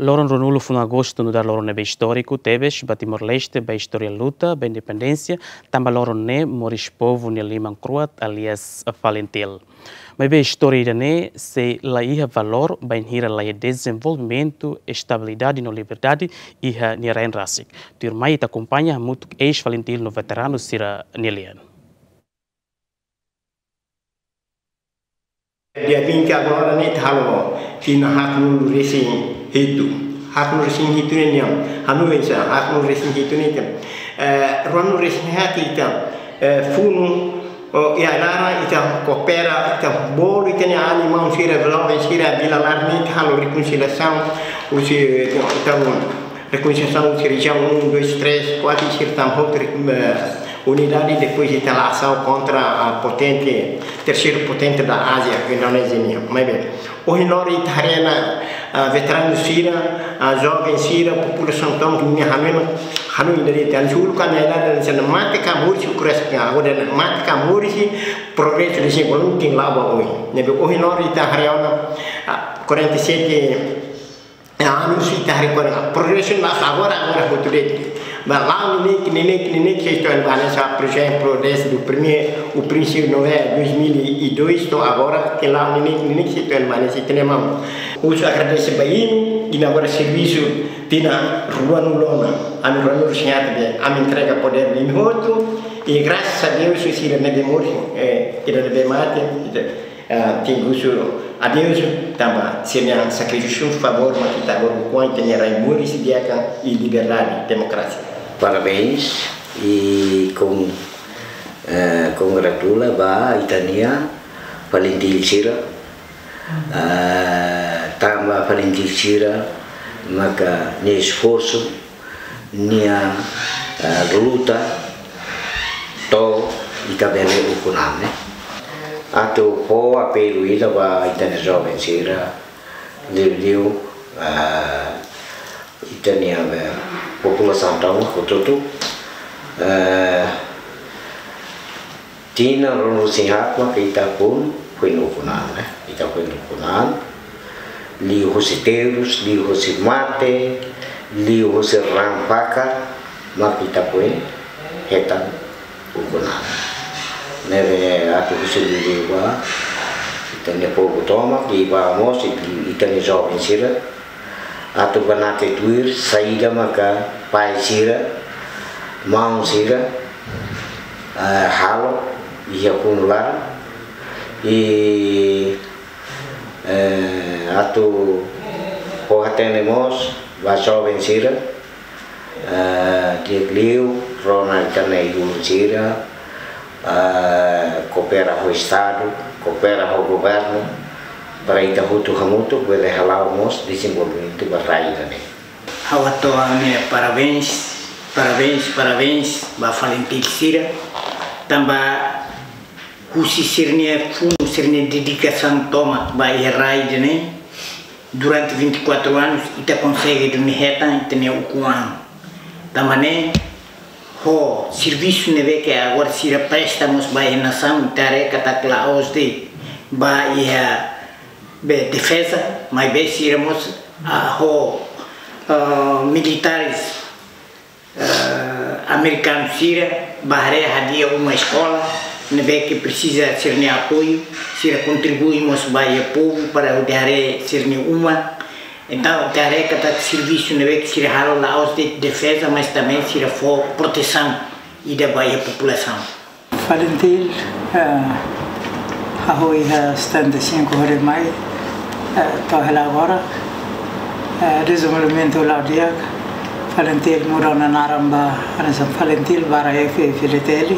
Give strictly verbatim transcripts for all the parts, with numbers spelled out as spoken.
Loron ruanulu funu Agostu nu'udar loron ne'ebé istóriku tebes ba Timor-Leste, ba istória luta ba independénsia, tanba loron ne'e moris povu nia liman kro'at, alias FALINTIL. Maibé istória ida-ne'e sei la iha valór bainhira la iha dezenvolvimentu, estabilidade no liberdade iha nia rain rasik. Tuirmai ita akompaña hamutuk eis-FALINTIL no veteranu sira-nia lian. Dia vinte agora ne'e ita halo tinan haatnulu resin hitu. Haatnulu resin hitu ne'e nian. Hanoin sa, haatnulu resin hitu ne'e ita. Eh, ruanulu resin haat ita, eh, funu, oh, iha laran ita koopera, ita bolu ita-nia alin maun sira, joven sira, vila laran ne'e ita halo rekonsiliasaun, husi, eh, ita, ita, rekonsiliasaun husi rejiaun um, dois, três, kuatru, sira tama hotu, eh, unidade, depois ita la'o asaun kontra, ah, potente, terceiro potente da Ásia, Indonézia nian. Maibé, ohin loron ita haree ona, ah, veteranu sira, ah, joven sira, populasaun tomak nia hanoin, hanoin ida de'it, ita hanoin uluk ami ida de'it, mate ka moris, ukras ka, agora mate ka moris, progresu dezenvolvimentu tenke la'o ba oin. Ne'ebé ohin loron ita haree ona, ah, quarenta e sete, ah, anu sira ita haree agora, progresu la agora, agora hotu de'it. Ba la'o neineik, neineik, neineik, sei to'o iha ne'e, por exemplo, desde o primeiro, o princípio, não é, dois mil e dois, to'o agora, ke la'o neineik, neineik, sei to'o iha ne'e, sei tenke mau. Husu agradese ba imi, imi agora servisu tinan ruanulu ona, ami ruanulu resin haat ne'e, ami entrega podér ba imi hotu, i grasas a Deus, sira ne'ebé moris, eh, sira ne'ebé mate, ita, ah, tenke husu adeus, tanba sira-nia sakrifísiu favór mak ita agora ukun ita-nia rain moris di'ak i liberdade, demokrasia. Parabéns i kon-, eh, kongratula ba ita-nia FALINTIL sira. Ah, tanba FALINTIL sira maka nia esforsu, nia, eh, luta, to'o ita bele ukun an ne'e. Atu fó apelu ida ba ita-nia joven sira, liuliu, eh, ita-nia, eh, populasaun tomak hotu-hotu, eh, tinan ruanulu resin haat maka ita foin, foin ukun an, eh. Ita foin ukun an. Liuhusi terus, liuhusi mate, liuhusi raan fakar, maka ita foin hetan ukun an. Ne'ebé atu husu liuliu ba ita-nia povu tomak, i ba mós ita-nia joven sira, atu banati tuir saida maka pai sira, maun sira, eh, halo iha funu laran, i, eh, atu fó hatene mós ba joven sira, eh, di'ak liu rona ita-nia ulun sira, eh, koopera ho Estadu, koopera ho governu, para ita hotu hamutuk bele hala'o mós dezenvolvimentu ba rai ida-ne'e. Ha'u hato'o ha'u-nia parabéns, parabéns, parabéns ba FALINTIL sira, tanba husi sira-nia funu, sira-nia dedikasaun tomak ba iha rai ida-ne'e, durante vinte e quatro anos, ita konsege duni hetan ita-nia ukun an. Tanba ne'e, ho servisu ne'ebé ke agora sira presta mós ba iha nasaun, ita haree katak la'ós de'it ba iha be defeza, maibé sira mós, ah, ho, ah, militares, ah, amerikanu sira, bá haree hadi'a uma eskola, ne'ebé ke presiza sira-nia apoiu, sira kontribui mós ba iha povu para hodi haree sira-nia uma. Entaun, ita haree katak servisu ne'ebé ke sira halo la'ós de'it defeza, mas também sira fó protesaun ida ba iha populasaun. FALINTIL, eh, hahú iha setenta e cinco hori mai, eh, to'o hela agora, eh, dezenvolvimentu la'o di'ak, FALINTIL muda ona naran ba, hanesan FALINTIL barra F-FLTL,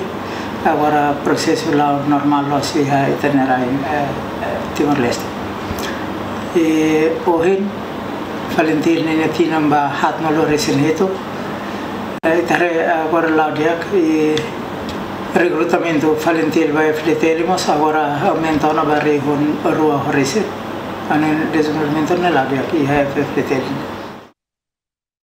agora prosesu la'o normál loos iha ita-nia rain, eh, eh, Timor-Leste. I ohin, FALINTIL ninia tinan ba haatnulu resin hitu, eh, ita haree agora la'o di'ak i rekrutamentu FALINTIL ba F-FLTL mós agora aumenta ona ba rihun rua ho resin. Anu dezenvolvimentu ne'e la'o di'ak iha F-FLTL.